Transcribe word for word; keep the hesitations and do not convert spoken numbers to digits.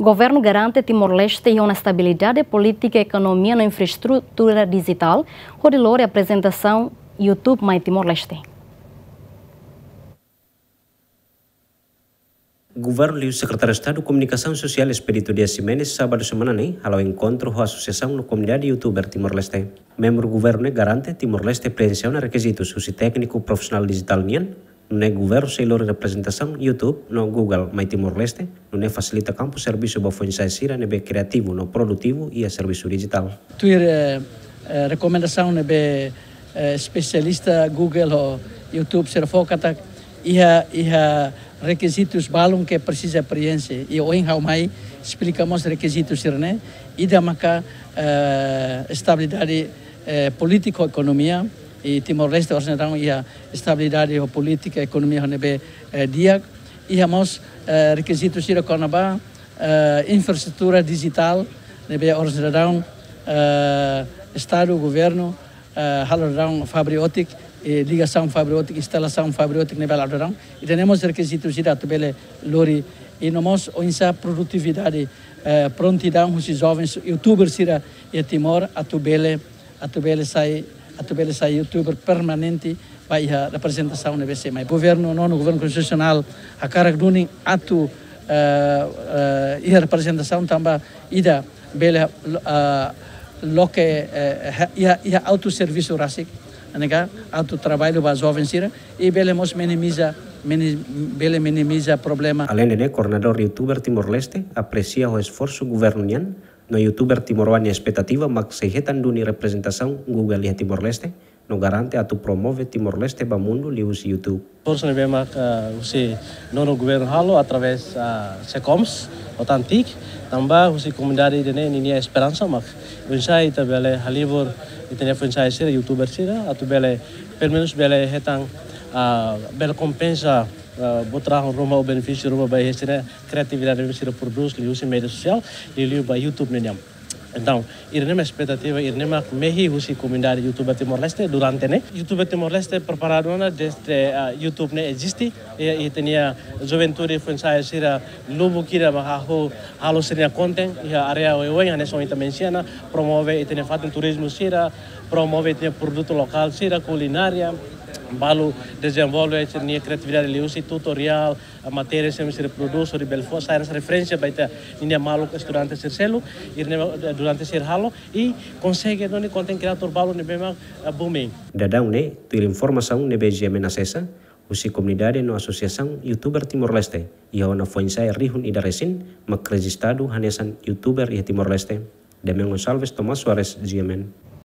Governu garante Timor-Leste iha ona estabilidade polítika, ekonomia no infraestrutura dijitál, hodi lori aprezentasaun YouTube mai Timor-Leste. Governu liu Sekretáriu Estadu Komunikasaun Sosiál Expedito Dias Ximenes, sábadu semana ne'e, hala'o enkontru ho asosiasaun no komunidade youtuber Timor-Leste. Membru governu ne'e garante Timor-Leste preenxe ona rekizitus husi tékniku profisionál dijitál nian, nune'e governu sei lori reprezentasaun YouTube no Google mai Timor-Leste, nune'e fasilita kampu servisu ba foin-sa'e sira ne'ebé kriativu no produtivu iha servisu dijitál. Tuir, eh, eh, rekomendasaun ne'ebé, eh, espesialista Google ho YouTube sira fó katak iha, iha rekizitus balun ke presiza preenxe. I ohin ha'u mai esplika mós rekizitus sira-ne'e, ida maka, eh, estabilidade, eh, polítika ho ekonomia, i Timor-Leste oras ne'e daudaun iha estabilidade ho polítika ekonomia ho ne'ebé, eh, di'ak. Iha mós, eh, rekizitus sira kona-ba, eh, infraestrutura dijitál ne'ebé oras ne'e daudaun, eh, Estadu, governu, eh, halo daudaun fibra ótika, eh, ligasaun fibra ótika, instalasaun fibra ótika ne'ebé halo daudaun. Ida-ne'e mós rekizitus ida atu bele lori, i no mós oinsá produtividade, eh, prontidaun husi jovens youtuber sira iha Timor atu bele, atu bele sai, atu bele sai youtuber permanente ba iha reprezentasaun ne'ebé sei mai. Governu, nonu governu konstitusionál hakarak duni atu, eh, eh, iha reprezentasaun tanba ida bele, eh, loke, eh, ha-, iha, iha autoservisu rasik, ne'e ka, autotraballu ba joven sira, i bele mós minimiza, mini-, bele minimiza problema. Aleinde ne'e, koordenadór youtuber Timor-Leste apresia ho esforsu governu nian, no youtuber timoroan nia espetativa mak sei hetan duni reprezentasaun Google iha Timor-Leste, no garante atu promove Timor-Leste ba mundu liuhusi YouTube. Esforsu ne'ebé mak, ah, husi nonu governu halo através, ah, SECOMS, OTAN TIC, tanba husi komunidade ida-ne'e ninia esperansa mak oinsá ita bele halibur ita-nia foin-sa'e sira, youtuber sira, atu bele, pelumenus bele hetan, ah, bele kompensa, ah, buat rahun ruma ou benefísiu ruma ba iha sira-nia kriatividade ne'ebé sira prodús liuhusi média sosiál, liuliu ba YouTube nian. Entaun, ida-ne'e mak espetativa, ida-ne'e mak mehi husi komunidade youtuber Timor-Leste durante ne'e. Youtuber Timor-Leste preparadu ona dezde, ah, YouTube ne'e eziste, i, i ita-nia juventude foin-sa'e sira lubuk ida mak hahú halo sira-nia konten iha área oioin, hanesan ohin ita mensiona, promove ita-nia fatin turizmu sira, promove ita-nia produtu lokál sira, kulinária, balu dezenvolve sira-nia kriatividade liuhusi tutoriál, ah, matéria sira mak sira prodús, hodi bele fó sai hanesan referénsia ba ita-nia maluk estudante sira seluk, i ne'e, eh, durante sira halo, i konsege duni content creator balu ne'ebé mak, eh, booming. Daudaun ne'e, tuir informasaun ne'ebé GMN asesa, husi komunidade no asosiasaun youtuber Timor-Leste, iha ona foin-sa'e rihun ida resin mak rejistadu hanesan youtuber iha Timor-Leste. Demian Gonçalves, Tomás Soares, GMN.